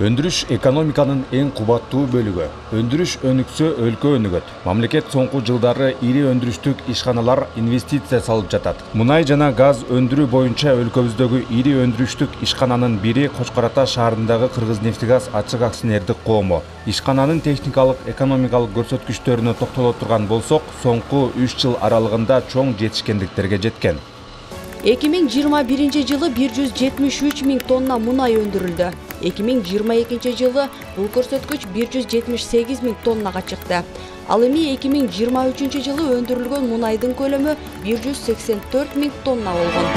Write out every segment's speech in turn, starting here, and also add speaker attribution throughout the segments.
Speaker 1: Өндүрүш экономиканын эң кубаттуу бөлүгү. Өндүрүш өнүксө өлкө өнүгөт. Мамлекет соңку жылдары ири өндүрүштүк ишканалар инвестиция салып жатат. Мунай жана газ өндүрүү боюнча өлкөбүздөгү ири өндүрүштүк ишкананын бири Кочкор Ата шаарындагы Кыргызнефтегаз ачык акционердик коому. Ишкананын техникалык, экономикалык көрсөткүчтөрүнө токтоло турган болсок, соңку 3 жыл аралыгында чоң жетишкендиктерге жеткен.
Speaker 2: 2021 жылы 173 миң тонна мунай өндүрүлдү. 2022 жылы бул көрсөткүч 178 миң тоннага чыкты. Ал эми 2023 жылы өндүрүлгөн мунайдын көлөмү 184 миң тонна болгон.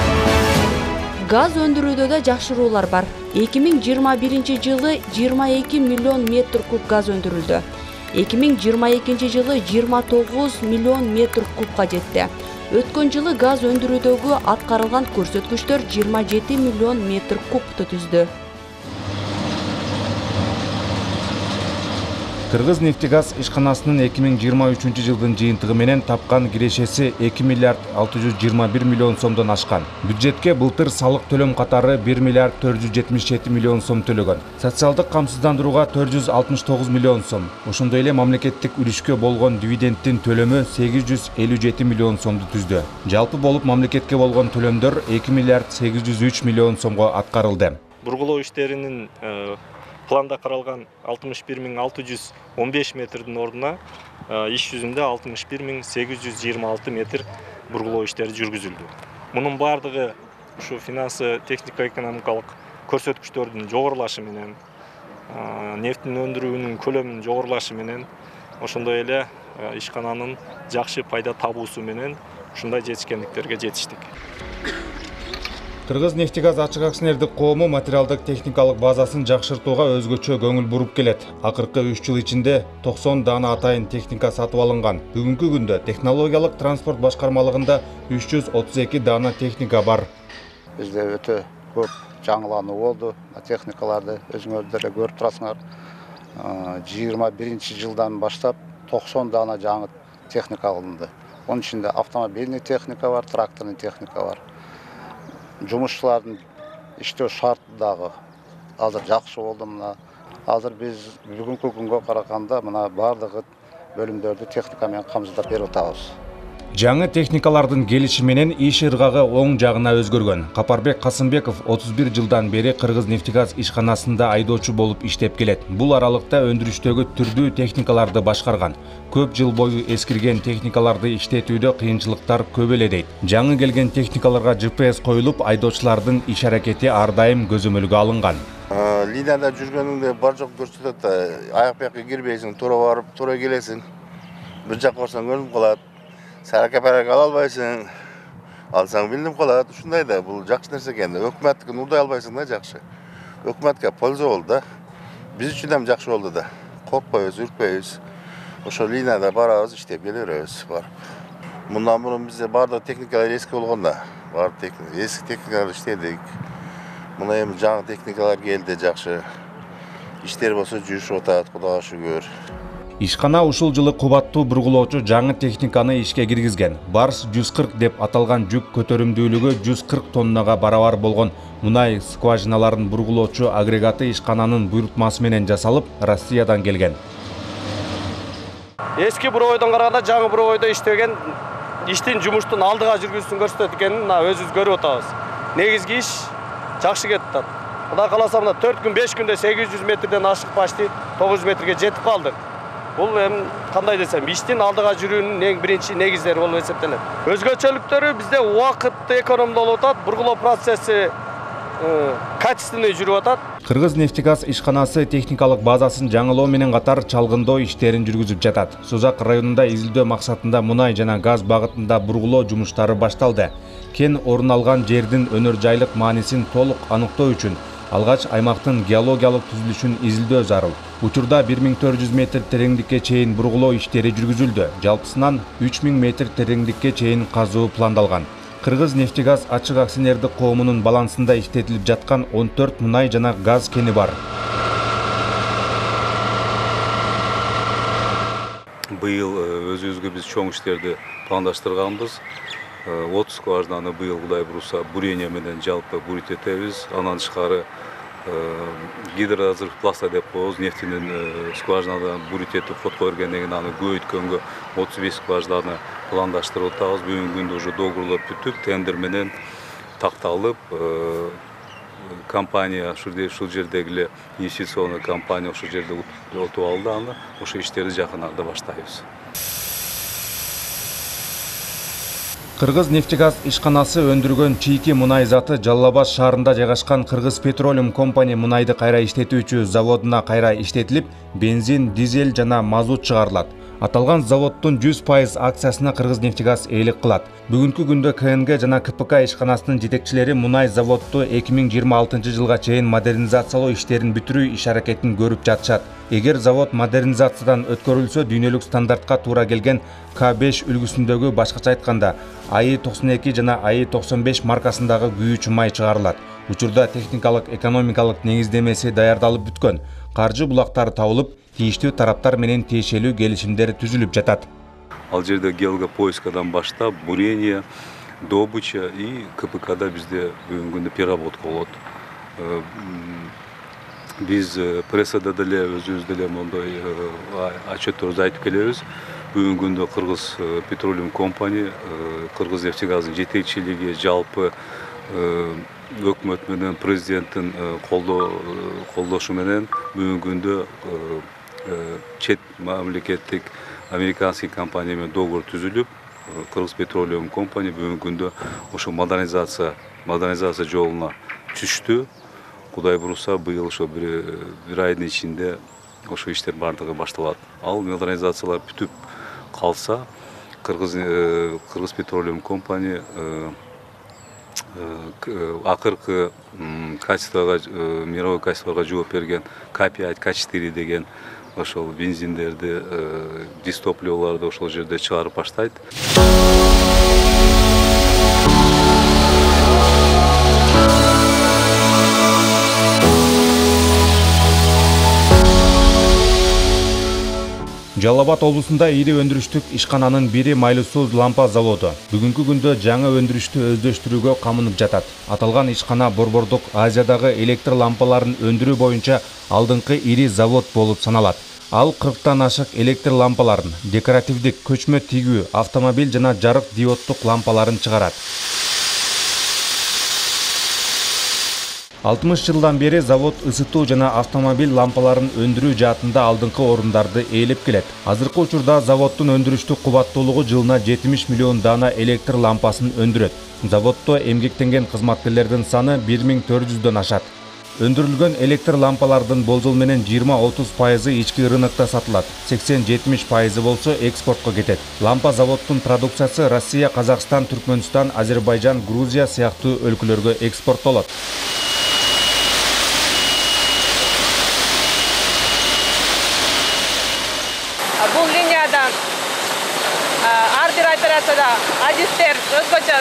Speaker 2: Газ өндүрүүдө да жакшыруулар бар. 2021 жылы 22 миллион метр куб газ өндүрүлдү. 2022 жылы 29 миллион метр кубка жетти. Өткөн жылы газ өндүрүүдөгү аткарылган көрсөткүчтөр 27 миллион метр кубту түздү.
Speaker 1: Кыргызнефтегаз ишканасынын 2023 жылдын жыйынтыгы менен тапкан кирешеси 2 миллиард 621 миллион сомдон ашкан. Бюджетке былтыр салык төлөм катары 1 миллиард 477 миллион сом төлөгөн. Социалдык камсыздандырууга 469 миллион сом. Ошондой эле мамлекеттик үлүшкө болгон дивидендтин төлөмү 857 миллион сомду түздү. Жалпы болуп мамлекетке болгон төлөмдөр 2 миллиард 803 миллион сомго аткарылды.
Speaker 3: Бургулоо иштеринин планда каралган 61 615 метрдин ордуна иш жүзүндө 61 826 метр бургулоо иштери жүргүзүлдү. Мунун бардыгы ушу финансы технико-экономикалык көрсөткүчтөрдүн жогорулашы менен, нефтин өндүрүүнүн көлөмүнүн жогорулашы менен, ошондой эле ишкананын жакшы пайда табуусу менен ушундай жетишкендиктерге жетиштик.
Speaker 1: Кыргызнефтегаз ачык акционердик коому материалдык техникалык базасын жакшыртууга өзгөчө көңүл буруп келет. Акыркы 3 жыл ичинде 90 даана атайын техника сатып алынган. Бүгүнкү күндө технологиялык транспорт башкармалыгында 332 даана техника бар.
Speaker 4: Бизде өтө көп жаңылануу болду. Техникаларды өзүңөрдөр эле көрүп турасыңар. 21 жылдан баштап 90 даана жаңы техника алынды. Онун ичинде автомобильный техника бар, тракторный техника бар. Жумушчулардын иштөө шарты дагы азыр жакшы болду. Мына азыр биз бүгүнкү күнгө караганда мына бардыгы бөлүмдөрдү техника менен камсыздап берип атабыз.
Speaker 1: Жаңы техникалардын келиши менен иш ыргагы оң жагына өзгөргөн. Капарбек Касымбеков 31 жылдан бери Кыргызнефтегаз ишканасында айдоочу болуп иштеп келет. Бул аралыкта өндүрүштөгү түрдүү техникаларды башкарган. Көп жыл бою эскирген техникаларды иштетүүдө кыйынчылыктар көп эле дейт. Жаңы келген техникаларга GPS коюлуп, айдоочулардын иш аракети ар дайым көзөмөлгө алынган.
Speaker 5: Линияда жүргөнүңдө бар жок көрсөтөт да, аяк бияка кирбейсиң, туура барып, туура келесиң. Бир жакка барсаң көрүнүп калат. Саракапарак ала албайсың, алсаң билинип калат. Ушундай да, бул жакшы нерсе экен. Өкмөттүкүн урдай албайсың да, жакшы. Өкмөткө польза болду да. Биз үчүн да жакшы болду да. Коркпойбуз, үркпөйбүз. Ошо линияда барабыз, иштеп келе беребиз барып. Мындан мурун бизде бардык техникалар эски болгон да. Эски техникалар иштедик. Мына эми жаңы техникалар келди, жакшы. Иштер болсо жүрүшүп атат, Кудайга шүгүр.
Speaker 1: Ишкана ушул жылы кубаттуу бургулоочу жаңы техниканы ишке киргизген. Барс 140 деп аталган жүк көтөрүмдүүлүгү 140 тоннага барабар болгон мунай скважиналарын бургулоочу агрегаты ишкананын буйрутмасы менен жасалып, Россиядан келген.
Speaker 6: Эски буровойдон караганда жаңы буровойдо иштеген иштин жумуштун алдыга жүргүзүүсүн көрсөтөт экенин өзүбүз көрүп атабыз. Негизги иш жакшы кетип атат. Кудай кааласа мына 4 күн 5 күндө 800 метрден ашык почти 900 метрге жетип калдык. Бул эми кандай десем, иштин алдыга жүрүүнүн эң биринчи негиздери болуп эсептелет. Өзгөчөлүктөрү бизде убакытты экономдолуп атат, бургулоо процесси качественный жүрүп атат.
Speaker 1: Кыргызнефтегаз ишканасы техникалык базасын жаңылоо менен катар чалгындоо иштерин жүргүзүп жатат. Созак районунда изилдөө максатында мунай жана газ багытында бургулоо жумуштары башталды. Кен орун алган жердин өнөр жайлык маанисин толук аныктоо үчүн алгач аймактын геологиялык түзүлүшүн изилдөө зарыл. Учурда 1400 метр тереңдикке чейин бургулоо иштери жүргүзүлдү. Жалпысынан 3000 метр тереңдикке чейин казуу пландалган. Кыргызнефтегаз ачык акционердик коомунун балансында иштетилип жаткан 14 мунай жана газ кени бар.
Speaker 7: Быйыл өзүбүзгө биз чоң иштерди пландаштырганбыз. 30 скважинаны быйыл Кудай буюрса бурение менен жалпы бурит этебиз. Анан тышкары гидроразрыв пласта деп коебуз, нефтинин скважинадан бурить этип фотко бергенден кийин аны көбөйткөнгө 35 скважинаны пландаштырып атабыз. Бүгүнкү күндө уже договорлор бүтүп, тендер менен такталып, компания ушул жердеги инвестиционный компания ошол жерде утуп алды аны. Ошо иштерди жакын арада баштайбыз.
Speaker 1: Кыргыз нефтегаз ишканасы өндүргөн чийки мунай заты Жалал Абад шаарында жайгашкан Кыргыз Petroleum Company мунайды кайра иштетүүчү заводуна кайра иштетилип, бензин, дизель жана мазут чыгарылат. Аталган заводдун 100% акциясына Кыргыз нефтегаз ээлик кылат. Бүгүнкү күндө КНГ жана КПК ишканасынын жетекчилери мунай заводду 2026 жылга чейин модернизациялоо иштерин бүтүрүү иш аракетин көрүп жатышат. Эгер завод модернизациядан өткөрүлсө, дүйнөлүк стандартка туура келген К5 үлгүсүндөгү, башкача айтканда АИ-92 жана АИ-95 маркасындагы күйүүчү май чыгарылат. Учурда техникалык, экономикалык негиздемеси даярдалып бүткөн. Каржы булактары табылып, тийиштүү тараптар менен тиешелүү келишимдер түзүлүп жатат.
Speaker 7: Ал жерде геологопоискадан баштап, бурение, добыча и КПКда бизде бүгүнкү күндө переработка болот. Биз прессада деле өзүбүз деле мондой отчетторду айтып келебиз. Бүгүнкү күндө Кыргыз Petroleum Company, Кыргыз нефтегазынын жетекчилиги жалпы өкмөт менен президенттин колдошу менен бүгүнкү күндө чет мамлекеттик американский компания менен договор түзүлүп, Кыргыз Petroleum Company бүгүнкү күндө ошо модернизация жолуна түштү. Кудай буюрса, быйыл ошо бир айдын ичинде ошо иштер бардыгы башталат. Ал модернизациялар бүтүп калса, Кыргыз Petroleum Company акыркы качествого, мировой качествого жооп берген К5, К4 деген ошол бензиндерди, дистопливолорду ошол жерде чыгарып баштайт.
Speaker 1: Жалал Абад облусунда ири өндүрүштүк ишкананын бири майлуу суу лампа заводу бүгүнкү күндө жаңы өндүрүштү өздөштүрүүгө камынып жатат. Аталган ишкана Борбордук Азиядагы электр лампаларын өндүрүү боюнча алдыңкы ири завод болуп саналат. Ал 40тан ашык электр лампаларын, декоративдик, көчмө тигүү, автомобиль жана жарык диоддук лампаларын чыгарат. 60 жылдан бери завод ысытуу жана автомобиль лампаларын өндүрүү жаатында алдыңкы орундарды ээлеп келет. Азыркы учурда заводдун өндүрүштүк кубаттуулугу жылына 70 миллион дана электр лампасын өндүрөт. Заводдо эмгектенген кызматкерлердин саны 1400дөн ашат. Өндүрүлгөн электр лампалардын болжол менен 20-30% ички рынокто сатылат. 80-70% болсо экспортко кетет. Лампа заводдун продукциясы Россия, Казакстан, Түркмөнстан, Азербайжан, Грузия сыяктуу өлкөлөргө экспорттолот.
Speaker 8: Бул линиядан ар бир операцияда адистер, өзгөчө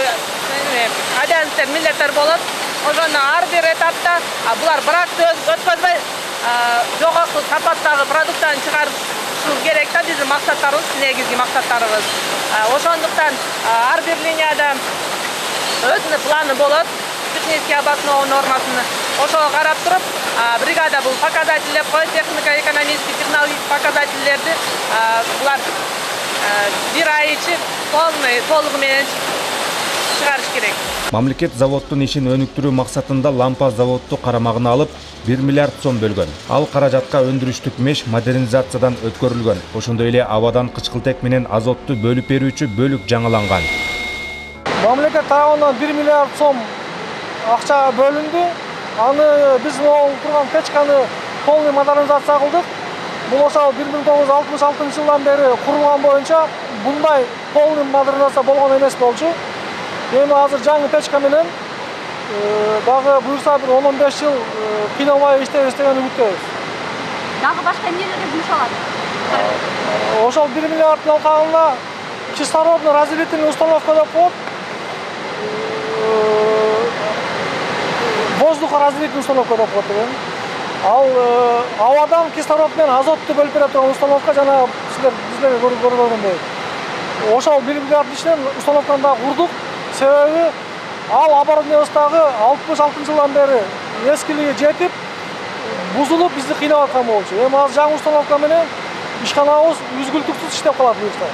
Speaker 8: обязанностьтер, милдеттер болот. Ошону ар бир этапта булар бракты өткөзбөй, жогорку сапаттагы продуктаны чыгарыш керек да, биздин максаттарыбыз, негизги максаттарыбыз. Ошондуктан ар бир линияда өзүнүн планы болот, технический обоснованный нормасын. Ошого карап туруп, бригада бул показатель деп коет, технико-экономический, технологический показательдерди булар бир ай ичи толугу менен чыгарыш керек.
Speaker 1: Мамлекет заводдун ишин өнүктүрүү максатында лампа заводду карамагына алып 1 миллиард сом бөлгөн. Ал каражатка өндүрүштүк меш модернизациядан өткөрүлгөн. Ошондой эле абадан кычкылтек менен азотту бөлүп берүүчү бөлүк жаңыланган.
Speaker 9: Мамлекет тарабынан 1 миллиард сом акча бөлүндү. Аны биз турган печканы полный модернизация кылдык. Бул ошол 1966 жылдан бери курулган боюнча мындай полный модернизация болгон эмес болчу. Эми азыр жаңы печка менен дагы буюрса бир 10-15 жыл кыйналбай иштейбиз деген үмүттөбүз.
Speaker 10: Дагы башка эмнелерге жумшалат?
Speaker 9: Ошол 1 миллиарддын алкагында кислородный разделительный установка деп коет. Воздухоразделительный установка деп коет экен. Ал абадан кислород менен азотту бөлүп бере турган установка жана силерге көргөндөй. Ошол 1 миллиард ишинен установканы да курдук. Себеби ал оборудованиябыздагы 66 жылдан бери эскилиги жетип, бузулуп бизди кыйнап аткан болчу. Эми азыр жаңы установка менен ишканабыз үзгүлтүксүз иштеп калат буюрса.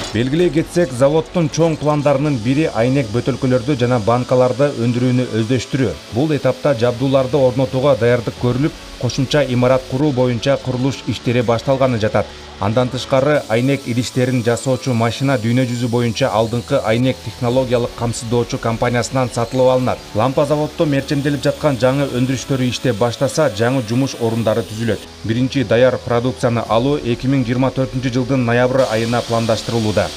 Speaker 1: Белгилей кетсек, заводдун чоң пландарынын бири айнек бөтөлкөлөрдү жана банкаларды өндүрүүнү өздөштүрүү. Бул этапта жабдууларды орнотууга даярдык көрүлүп, кошумча имарат куруу боюнча курулуш иштери башталганы жатат. Андан тышкары айнек идиштерин жасоочу машина дүйнө жүзү боюнча алдыңкы айнек технологиялык камсыздоочу компаниясынан сатылып алынат. Лампа заводдо мерчемделип жаткан жаңы өндүрүштөрү иштеп баштаса, жаңы жумуш орундары түзүлөт. Биринчи даяр продукцияны алуу 2024 жылдын ноябрь айына пландаштырылууда.